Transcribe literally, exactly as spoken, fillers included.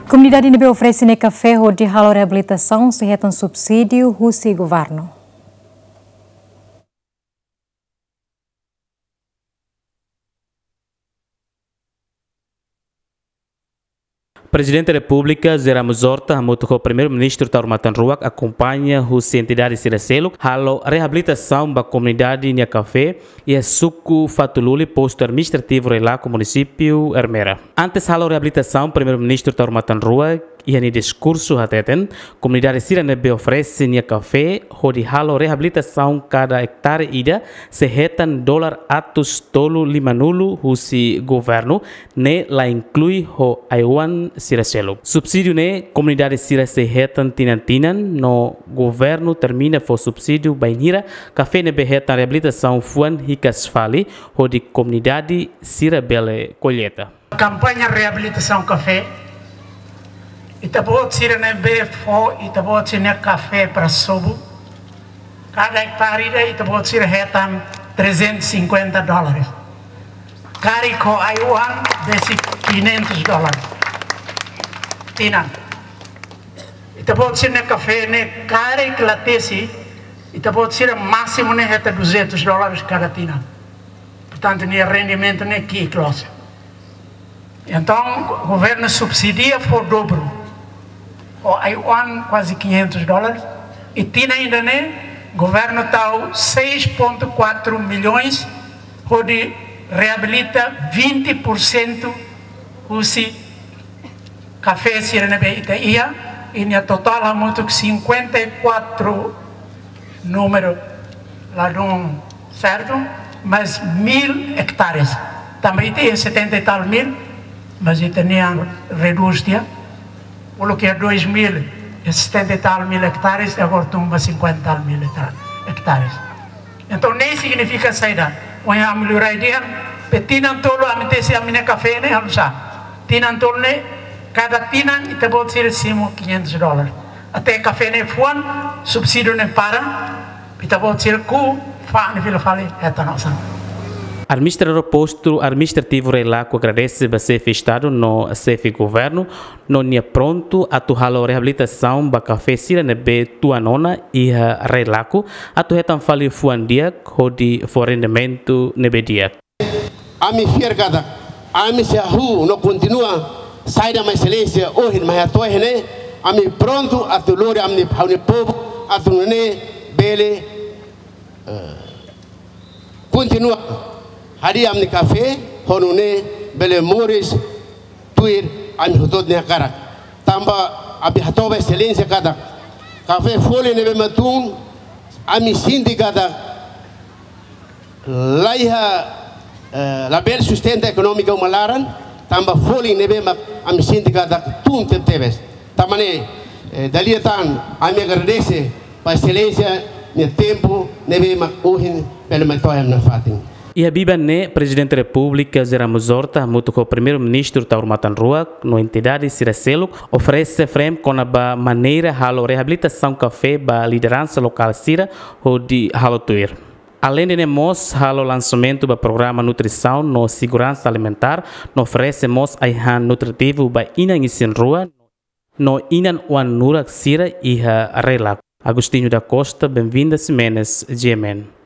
Komunidade ne'ebé oferese nia kafé hodi halo reabilitasaun sei hetan subsídiu husi governu. Prezidente Repúblika José Ramos Horta hamutuk ho Primeiru-Ministru Taur Matan Ruak akompaña husi entidade sira seluk halo reabilitasaun ba komunidade nia kafé iha suku Fatululi, postu administrativu Railaco, munisípiu Ermera. Antes halo reabilitasaun, Primeiru-Ministru Taur Matan Ruak iha nia diskursu hateten, komunidade sira ne'ebé oferese nia kafé hodi halo reabilitasaun kada ektare ida sei hetan dolar atus tolu lima-nulu husi governu, ne'e la inklui ho ai-oan sira seluk. Subsídiu ne'e komunidade sira sei hetan tinan-tinan, no governu termina fó subsídiu bainhira kafé ne'ebé hetan reabilitasaun fuan hikas fali, hodi komunidade sira bele kolleita. Kampaña reabilitasaun kafé, ita-boot sira ne'ebé fó ita-boot sira-nia kafé para sobu, kada ektare ida ita-boot sira hetan trezentos e cinquenta dólares. Karik ho ai-oan besik quinhentos dólares. Tinan. Ita-boot sira-nia kafé ne'e karik la tesi, ita-boot sira másimu ne'e hetan duzentos dólares kada tinan. Portantu, nia rendimentu ne'e ki'ik loos. Entaun, governu subsidia fó dobru. Ho ai-oan kuaze quinhentos dólares. I tinan ida-ne'e, governu tau seis ponto quatro milhões hodi reabilita vinte por cento husi kafé sira ne'ebé ita iha, i nia totál hamutuk cinquenta e quatro númeru ladún sertu, mas mil ektares. Tanba ita iha setenta e tal mil, mas ita-nian redús tiha. Uluk iha dois mil e setenta e tal mil ektares, i agora tun ba cinquenta e tal mil hektar-, ektares. Entaun, ne'e signifika saida? Ohin ami lori dehan, pe tinan tolu ami tesi ami-nia kafé ne'e halo sá. Tinan tolu ne'e, kada tinan ita-boot sira simu quinhentos dólares. Até kafé ne'e fuan, subsídiu ne'e para, ita-boot sira ku fa ni fila fali hetan osan. Administradór postu administrativu Railaco agradese ba xefe Estadu no xefe governu, no nia prontu atu halo reabilitasaun ba kafé sira ne'ebé tuan ona iha Railaco, atu hetan fali fuan di'ak hodi fó rendimentu ne'ebé di'ak. Ami fiar katak, ami sei hahú no kontinua saida mak Exelénsia ohin mai hato'o iha ne'e, ami prontu atu lori ami-nia, ha'u-nia povu, atu nune'e bele, eh, kontinua hadi'a ami-nia kafé, ho nune'e bele moris tuir ami hotu-hotu nia hakarak. Tanba ami hato'o ba Exelénsia katak, kafé folin ne'ebé mak tun, ami sente katak la iha, eh, labele sustenta ekonomia uma laran, tanba folin ne'ebé mak ami sente katak tun tebetebes. Tanba ne'e, eh, dala ida tan, ami agradese ba Exelénsia nia tempu ne'ebé mak ohin bele mai to'o iha ami-nia fatin. Iha biban ne'e, Prezidente Repúblika José Ramos Horta hamutuk ho Primeiru-Ministru Taur Matan Ruak no entidade sira seluk oferese frame kona-ba maneira halo reabilitasaun kafé ba lideransa lokál sira hodi halo tuir. Aleinde ne'e mós halo lansamentu ba programa nutrisaun no seguransa alimentár, no oferese mós ai-han nutritivu ba inan isin-rua no inan oan-nurak sira iha Railaco. Agostinho da Costa, Benvinda Ximenes, G M N.